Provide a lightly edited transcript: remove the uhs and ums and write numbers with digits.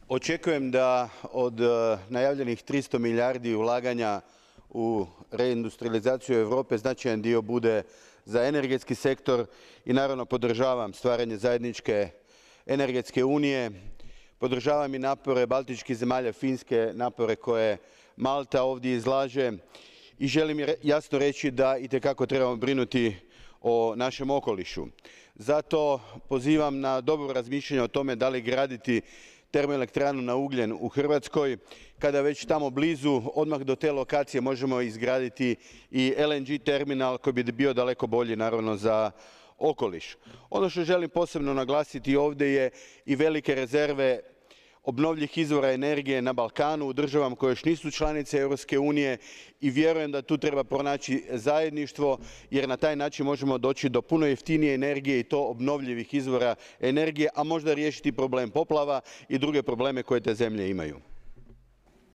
Očekujem da od najavljenih 300 milijardi ulaganja u reindustrializaciju Europe značajan dio bude za energetski sektor i naravno podržavam stvaranje zajedničke energetske unije. Podržavam i napore baltičkih zemalja, Finske, napore koje Malta ovdje izlaže i želim jasno reći da itekako trebamo brinuti o našem okolišu. Zato pozivam na dobro razmišljanje o tome da li graditi termoelektranu na ugljen u Hrvatskoj, kada već tamo blizu, odmah do te lokacije možemo izgraditi i LNG terminal koji bi bio daleko bolji naravno za okoliš. Ono što želim posebno naglasiti ovdje je i velike rezerve obnovljivih izvora energije na Balkanu, u državama koje još nisu članice Europske unije, i vjerujem da tu treba pronaći zajedništvo jer na taj način možemo doći do puno jeftinije energije i to obnovljivih izvora energije, a možda riješiti problem poplava i druge probleme koje te zemlje imaju.